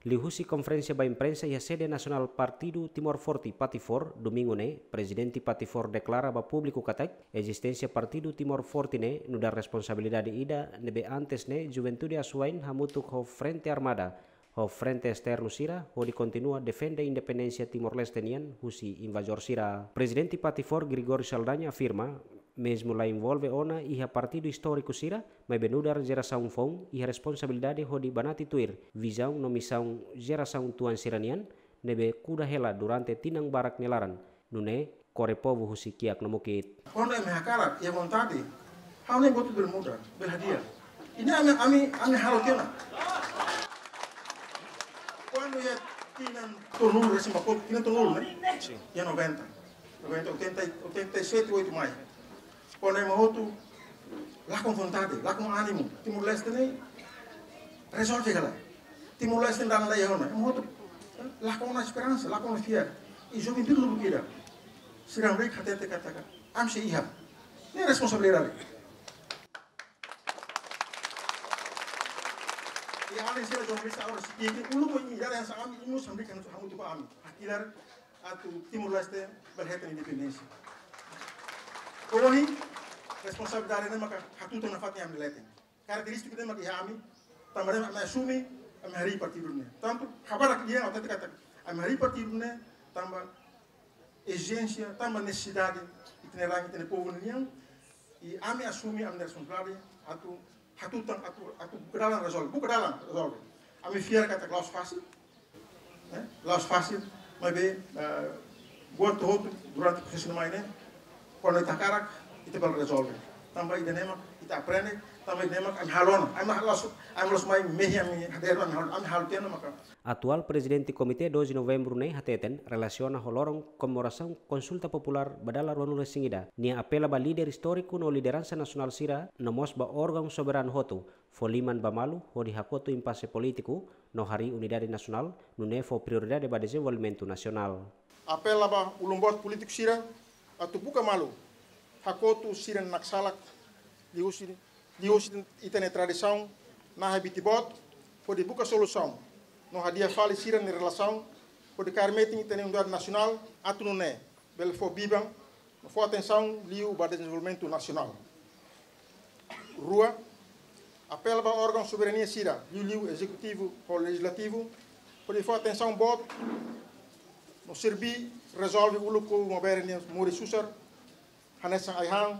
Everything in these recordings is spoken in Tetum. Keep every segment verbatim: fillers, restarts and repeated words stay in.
Liuhusi konferénsia ba imprensa iha sede nasionál Partidu Timor Forte, Patifor, domingu ne'e, Prezidente Patifor deklara ba públiku katak ezisténsia Partidu Timor Forte ne'e nu'udar responsabilidade ida ne'ebé antes ne'e juventude asuwa'in hamutuk ho Frente Armada ho Frente Esternu sira hodi kontinua defende independénsia Timor-Leste nian husi invazór sira. Prezidente Patifor, Gregório Saldanha, afirma, mezmu la envolve ona iha partidu istóriku sira, maibé nu'udar jerasaun foun iha responsabilidade hodi banati tuir vizaun no misaun jerasaun tuan sira-nian ne'ebé kuda hela durante tinan barak nia laran, nune'e kore povu husi kiak no mukit. Kuandu imi hakarak, iha vontade, ha'u-nia votu bele muda, bele hadi'a. Ida-ne'e ami, ami, ami halo tiha ona. Kuandu iha tinan tolunulu, resin ba kotuk, tinan tolunulu, ne'e? Sin. Iha noventa. Noventa, oitenta, oitenta e sete, oito mai. Kuandu ema hotu lakon vontade, lakon ánimu, Timor-Leste ne'e rezolve ka lae. Timor-Leste dala ida iha ona, ema hotu lakon ona esperansa, lakon ona fiar. I juventude lubuk ida, sira hamriik hatete katak ami sei iha. Ne'e responsabilidade. I alin sira jornalista agora sei ki'ik, uluk imi dada yang sa ami, imi mós hamriik hamutuk ho ami. Hakilar atu Timor-Leste bele hetan independénsia. Ohin, responsabilidade ne'e maka hatutan nafatin iha ami leten. Karakterístika ne'e maka iha ami, tanba ne'e ami asume, ami harii partidu ne'e. Tantu, habadak di'ak, hatete katak, ami harii partidu ne'e, tanba ezijénsia, tanba nesesidade ita-nia rain, ita-nia povu nian, i ami asume ami-nia responsabilidade atu hatutan, atu, atu buka dalan rezolve, buka dalan rezolve. Ami fiar katak la'ós fasil, eh, la'ós fasil, maibé, eh, buat hotu durante prosesu ne'e mai ne'e, kuandu ita hakarak, ita bele rezolve. Tanba ida-ne'e mak ita aprende, tanba ida-ne'e mak ami halo ona, ami la'ós, ami la'ós mai mehi ami hadeer, ami halo, ami halo tiha ona maka. Atuál Prezidente Komité doze Novembru ne'e hateten relasiona ho loron komemorasaun konsulta populár ba dala ruanulu-resin-ida, nia apela ba líder istóriku no lideransa nasionál sira, no mós ba órgaun soberanu hotu, fó liman ba malu hodi hakotu impase polítiku no harii unidade nasionál, nune'e fó prioridade ba dezenvolvimentu nasionál. Apela ba ulun-boot polítiku sira atu buka malu, hakotu sira-nia naksalak, liuhusi, liuhusi ita-nia tradisaun nahe biti boot, hodi buka solusaun no hadi'a fali sira-nia relasaun, hodi kaer metin ita-nia unidade nasionál, atu nune'e bele fó biban no fó atensaun liu ba dezenvolvimentu nasionál. Rua, apela ba órgaun soberania sira, liuliu ezekutivu ho lejizlativu, hodi fó atensaun boot no serbí rezolve uluk povu maubere nia moris susar, hanesan ai-han,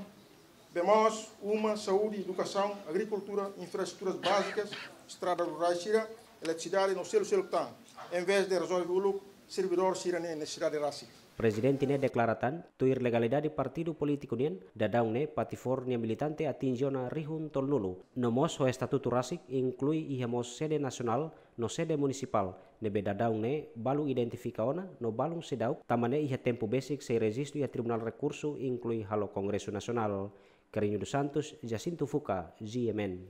bee moos, uma, saúde, edukasaun, agrikultura, infraestruturas bázikas, estrada rurais sira, eletrisidade no seluk-seluk tan, envezde rezolve uluk servidór sira-nia nesesidade rasik. Prezidente ne'e deklara tan, tuir legalidade partidu polítiku nian, daudaun ne'e Patifor nia militante atinje ona rihun tolunulu. No mós ho estatutu rasik, inklui iha mós sede nasionál no sede munisipál, ne'ebé daudaun ne'e balu identifika ona no balun seidauk, tanba ne'e iha tempu besik sei rejistu iha Tribunál Rekursu, inklui halo Kongresu Nasionál. Carrinho dos Santos, Jacinto Fuca, G M N.